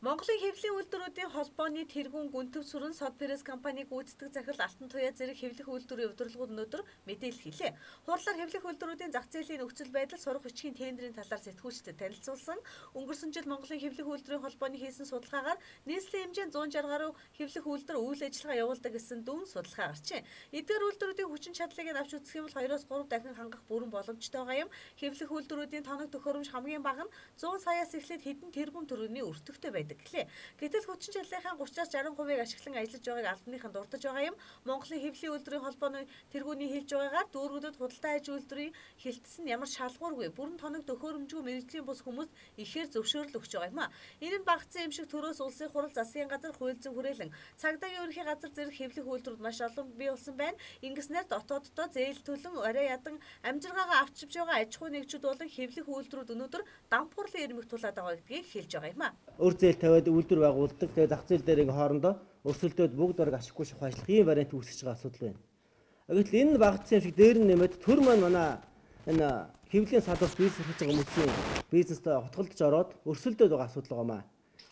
Монголын хэвлэлийн үйлдвэрүүдийн холбооны тэргуун гүнтэв сүрэн Сод Пресс компаниг гүйцэтгэх захирал Алтан туяа зэрэг хэвлэх үйлдвэрийн удирдлагууд өнөөдөр мэдээлэл хийлээ. Хуурлаар хэвлэх үйлдвэрүүдийн зах зээлийн нөхцөл байдал сурах бичгийн тендерийн талаар сэтгүүлчдэд танилцуулсан. Өнгөрсөн жил Монголын хэвлэх үйлдвэрийн холбооны хийсэн судалгаагаар нийслэлийн хэмжээнд 160 гаруй хэвлэх үйлдвэр үйл ажиллагаа явуулдаг гэсэн дүн судалгаа гарчээ. Эдгээр үйлдвэрүүдийн хүчин чадлыг авч үзэх юм бол 2-3 дахин хангах бүрэн боломжтой байгаа юм. Хэвлэх үйлдвэрүүдийн тоног төхөөрөмж хамгийн бага нь 100 саяас эхлээд хэдэн тэрбум төгрөгийн өртөгтэй байдаг. Гэтэл хүчин чадлынхаа 30-60%-ыг ашиглан ажиллаж байгааг албаныхан дурдж байгаа юм. Монголын хэвлэлийн үйлдвэрийн холбооны тэргүүний хэлж байгаагаар дүүргүүдэд худалдаа аж үйлдвэрийн хилтсэн ямар шалгуургүй бүрэн тоног төхөөрөмжгүй мэргэжлийн бус хүмүүст ихээр зөвшөөрөл өгч байгаа юм а. Энэ нь багцсан юм шиг төрөөс улсын хурал засгийн газар хуульзан хүрээлэн цагдаагийн ерөнхий газар зэрэг хэвлэх үйлдвэрүүд маш олон бий болсон байна. Ингэснээр дотооддоо зээл төлөн арай ядан амжиргаагаа авчиж байгаа аж ахуй нэгжүүд болон хэвлэх үйлдвэрүүд өнөөдөр дампуурлын ирмэг тулаад байгаа гэдгийг хэлж байгаа юм а. Өр зээл тавиад үйлдвэр байгуулдаг. Тэгээ зах зээл дээр хоорондоо өрсөлдөөд бүгд бараг ашиггүй шахуу ажиллах ийм вариант үүсэж байгаа асуудал байна. Гэтэл энэ багцсан юм шиг дээр нь нэмээд төр маань манай энэ хэвлэлийн салбарт бизнес хийж байгаа хүмүүсийн бизнестэй хотголдож ороод өрсөлдөөд байгаа асуудал байгаамаа.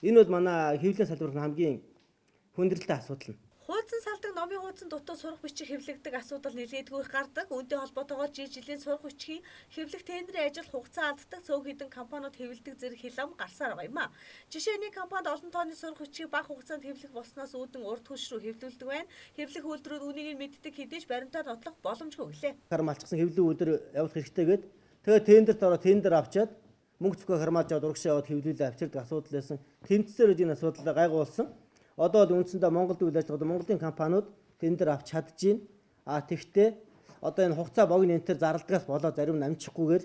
Энэ бол манай хэвлэлийн салбарт хамгийн хүндрэлтэй асуудал нь. Хуудсан салдаг номын хуудсан дутуу сурах бичиг хэвлэгдэх асуудал нэлээдгүй их гардаг. Үүнтэй холбоотойгоор жилийн сурах бичгийн хэвлэх тендерийн ажил хугацаа алддаг цөөн хэдэн компаниуд хэвлэдэг зэрэг хилам гарсаар байгаа юм а. Жишээ нь компанид олон тооны сурах бичгийг бага хугацаанд хэвлэх болсноос үүдэн урд хөлш рүү хэвлүүлдэг байна. Хэвлэх үйлдвэрүүд үнийг нь мэддэг хэдийч баримтаар нотлох боломжгүй гэлээ. Хармалцсан хэвлэх үйлдвэр явуулах хэрэгтэйгээд тэгээ тендерт ороод тендер авчаад мөнгө зөвхөн хармааж аваад урагшаа яваад хэвлүүлээ авчирдаг асуудал байсан. Тэмцсээр энэ асуудал гайгуулсан. Одоо л үндсэндээ Монголд үйл ажиллагаа Монголын компаниуд тендер авч чадчихээн. Тэгтээ одоо энэ хугацаа богино энтер зарлдгаас болоод зарим нь амжихгүйгээр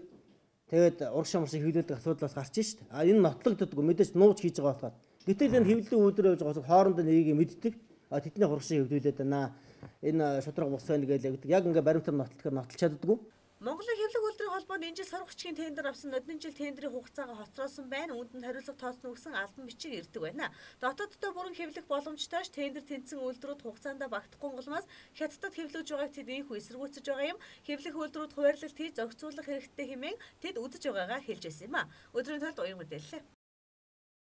тэгээд урагшаа муршиг хэвлүүлдэг асуудлаас гарч шít. Энэ нотлогддоггүй мэдээж нууж хийж байгаа болохоо. Гэтэл энэ хэвлэлийн үйлдвэр явж байгаа хоорондоо нэгийг мэддэг. Тэдний урагшаа хэвлүүлээд байна. Энэ шудраг бус байна гэж ягдаг. Яг ингээ баримтаар нотлохоор нотолч чаддаггүй. Монголын хэвлэх үйлдвэрийн холбоонд энэ жил сурах бичгийн тендер авсан нодны жил тендерийн хугацаагаа хоцроосон байна. Үүнд нь хариуцлага тооцно гэсэн албан бичиг ирдэг байна. Дотооддоо бүрэн хэвлэх боломжтойш тендер тэнцсэн үйлдвэрүүд хугацаанд багтахгүй улмаас хятадд хэвлүүлж байгааг тэд ийхүү эсэргүүцэж байгаа юм. Хэвлэх үйлдвэрүүд хуваарлалт хийж зохицуулах хэрэгтэй хэмээн тэд үзэж байгаагаа хэлж байсан юм а. Өдрийн тулд уян мэдээлэл.